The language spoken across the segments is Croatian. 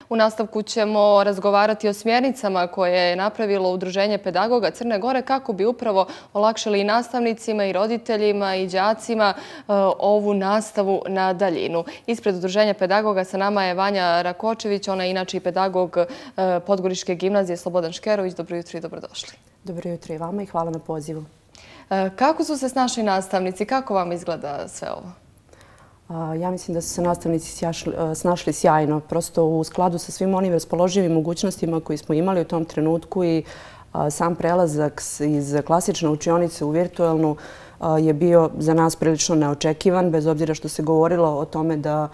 U nastavku ćemo razgovarati o smjernicama koje je napravilo Udruženje pedagoga Crne Gore kako bi upravo olakšali i nastavnicima i roditeljima i đacima ovu nastavu na daljinu. Ispred Udruženja pedagoga sa nama je Vanja Rakočević, ona je inače i pedagog Podgoričke gimnazije Slobodan Škerović. Dobro jutro i dobrodošli. Dobro jutro i vama i hvala na pozivu. Kako su se snašli nastavnici? Kako vam izgleda sve ovo? Ja mislim da su se nastavnici snašli sjajno, prosto u skladu sa svim onim raspoloživim mogućnostima koji smo imali u tom trenutku i sam prelazak iz klasične učionice u virtualnu je bio za nas prilično neočekivan, bez obzira što se govorilo o tome da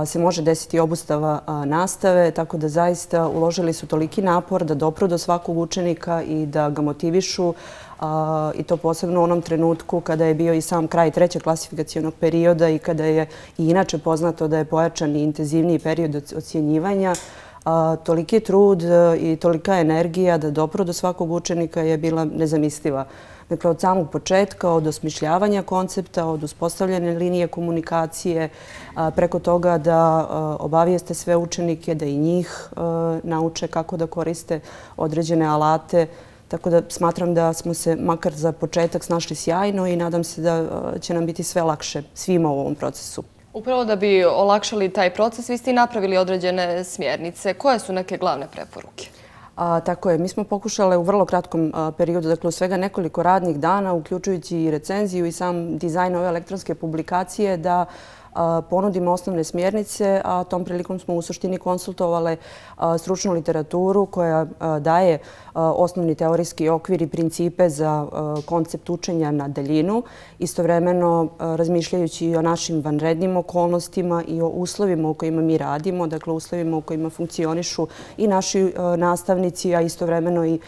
se može desiti obustava nastave, tako da zaista uložili su toliki napor da dopru do svakog učenika i da ga motivišu, i to posebno u onom trenutku kada je bio i sam kraj trećeg klasifikacionog perioda i kada je i inače poznato da je pojačan i intenzivniji period ocjenjivanja. Toliki trud i tolika energija da dopru do svakog učenika je bila nezamisliva. Dakle, od samog početka, od osmišljavanja koncepta, od uspostavljene linije komunikacije, preko toga da obavijeste sve učenike, da i njih nauče kako da koriste određene alate. Tako da smatram da smo se makar za početak snašli sjajno i nadam se da će nam biti sve lakše svima u ovom procesu. Upravo da bi olakšali taj proces, vi ste i napravili određene smjernice. Koje su neke glavne preporuke? Tako je. Mi smo pokušali u vrlo kratkom periodu, dakle u svega nekoliko radnih dana, uključujući i recenziju i sam dizajn ove elektronske publikacije, da ponudimo osnovne smjernice, a tom prilikom smo u suštini konsultovali stručnu literaturu koja daje osnovni teorijski okvir i principe za koncept učenja na daljinu, istovremeno razmišljajući i o našim vanrednim okolnostima i o uslovima u kojima mi radimo, dakle uslovima u kojima funkcionišu i naši nastavnici, a istovremeno i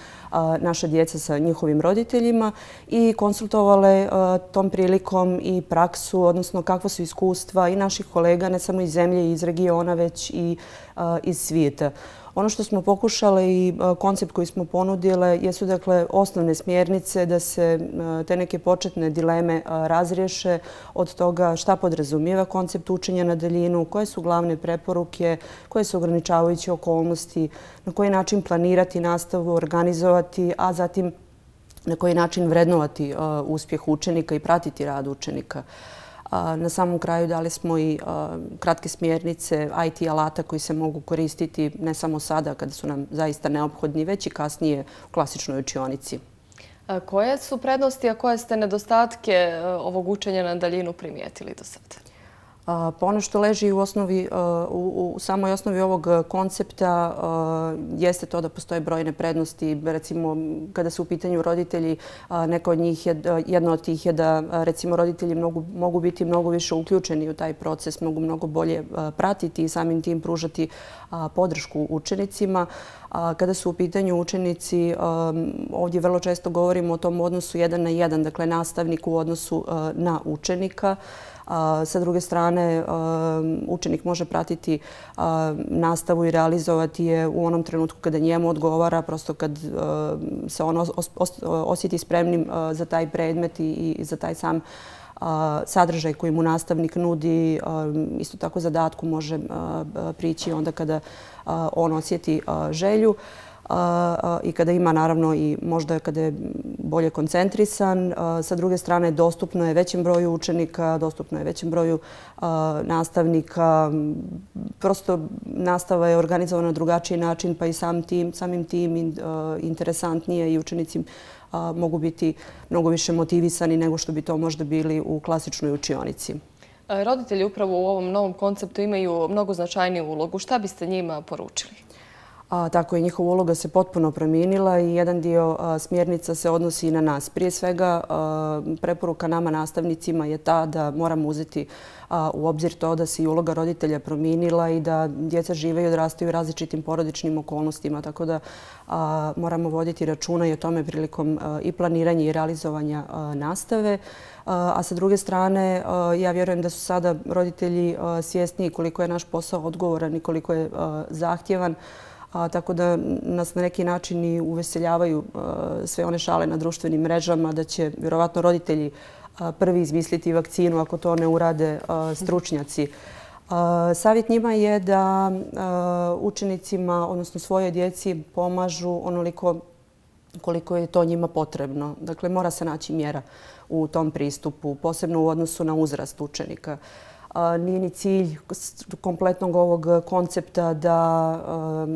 naša djeca sa njihovim roditeljima i konsultovale tom prilikom i praksu, odnosno kakva su iskustva i naših kolega, ne samo iz zemlje i iz regiona, već i iz svijeta. Ono što smo pokušali i koncept koji smo ponudile jesu dakle osnovne smjernice da se te neke početne dileme razriješe od toga šta podrazumijeva koncept učenja na daljinu, koje su glavne preporuke, koje su ograničavajuće okolnosti, na koji način planirati nastavu, organizovati, a zatim na koji način vrednovati uspjeh učenika i pratiti rad učenika. Na samom kraju dali smo i kratke smjernice IT alata koji se mogu koristiti ne samo sada kada su nam zaista neophodni, već i kasnije u klasičnoj učionici. Koje su prednosti, a koje ste nedostatke ovog učenja na daljinu primijetili do sada? Pa ono što leži u samoj osnovi ovog koncepta jeste to da postoje brojne prednosti. Recimo, kada su u pitanju roditelji, jedna od tih je da recimo roditelji mogu biti mnogo više uključeni u taj proces, mogu mnogo bolje pratiti i samim tim pružati podršku učenicima. Kada su u pitanju učenici, ovdje vrlo često govorimo o tom odnosu 1 na 1, dakle nastavnik u odnosu na učenika. Sa druge strane, učenik može pratiti nastavu i realizovati je u onom trenutku kada njemu odgovara, prosto kad se on osjeti spremnim za taj predmet i za taj sam sadržaj koji mu nastavnik nudi. Isto tako zadatku može prići onda kada on osjeti želju i kada ima naravno i možda kada je bolje koncentrisan. Sa druge strane, dostupno je većem broju učenika, dostupno je većem broju nastavnika. Prosto nastava je organizovana na drugačiji način, pa i samim tim interesantnije i učenici mogu biti mnogo više motivisani nego što bi to možda bili u klasičnoj učionici. Roditelji upravo u ovom novom konceptu imaju mnogo značajniju ulogu. Šta biste njima poručili? Tako je, njihova uloga se potpuno promijenila i jedan dio smjernica se odnosi i na nas. Prije svega, preporuka nama nastavnicima je ta da moramo uzeti u obzir to da se i uloga roditelja promijenila i da djeca žive i odrastaju u različitim porodičnim okolnostima, tako da moramo voditi računa i o tome prilikom i planiranja i realizovanja nastave. A sa druge strane, ja vjerujem da su sada roditelji svjesniji koliko je naš posao odgovoran i koliko je zahtjevan, tako da nas na neki način i uveseljavaju sve one šale na društvenim mrežama, da će vjerovatno roditelji prvi izmisliti vakcinu ako to ne urade stručnjaci. Savjet njima je da učenicima, odnosno svojoj djeci, pomažu onoliko koliko je to njima potrebno. Dakle, mora se naći mjera u tom pristupu, posebno u odnosu na uzrast učenika. Nije ni cilj kompletnog ovog koncepta da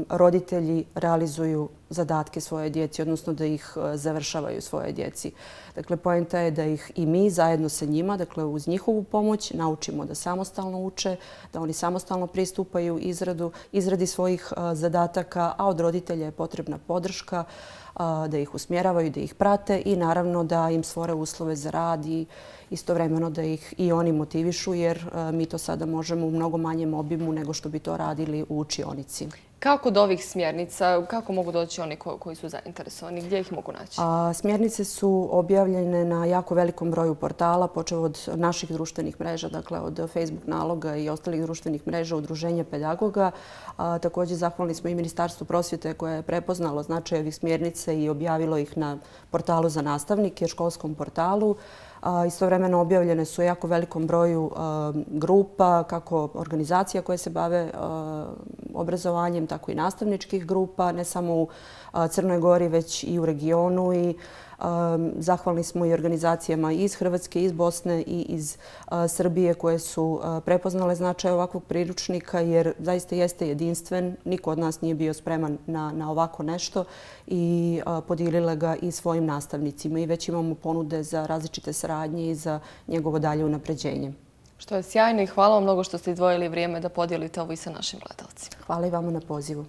roditelji realizuju zadatke svoje djeci, odnosno da ih završavaju svoje djeci. Dakle, poenta je da ih i mi zajedno sa njima, dakle uz njihovu pomoć, naučimo da samostalno uče, da oni samostalno pristupaju izradi svojih zadataka, a od roditelja je potrebna podrška, da ih usmjeravaju, da ih prate i naravno da im stvore uslove za rad i istovremeno da ih i oni motivišu, jer mi to sada možemo u mnogo manjem obimu nego što bi to radili u učionici. Kako do ovih smjernica, kako mogu doći oni koji su zainteresovani? Gdje ih mogu naći? Smjernice su objavljene na jako velikom broju portala, počev od naših društvenih mreža, dakle od Facebook naloga i ostalih društvenih mreža Udruženja pedagoga. Također zahvalni smo i Ministarstvu prosvjete koje je prepoznalo značaj ovih smjernica i objavilo ih na portalu za nastavnike, školskom portalu. Istovremeno objavljene su u jako velikom broju grupa, kako organizacija koje se bave obrazovanjem, tako i nastavničkih grupa, ne samo u Crnoj Gori, već i u regionu. I zahvalni smo i organizacijama iz Hrvatske, iz Bosne i iz Srbije koje su prepoznale značaj ovakvog priručnika, jer zaista jeste jedinstven. Niko od nas nije bio spreman na ovako nešto i podijelile ga i svojim nastavnicima. I već imamo ponude za različite saradnje i za njegovo dalje unapređenje. Što je sjajno i hvala vam mnogo što ste izdvojili vrijeme da podijelite ovo i sa našim gledalcima. Hvala i vama na pozivu.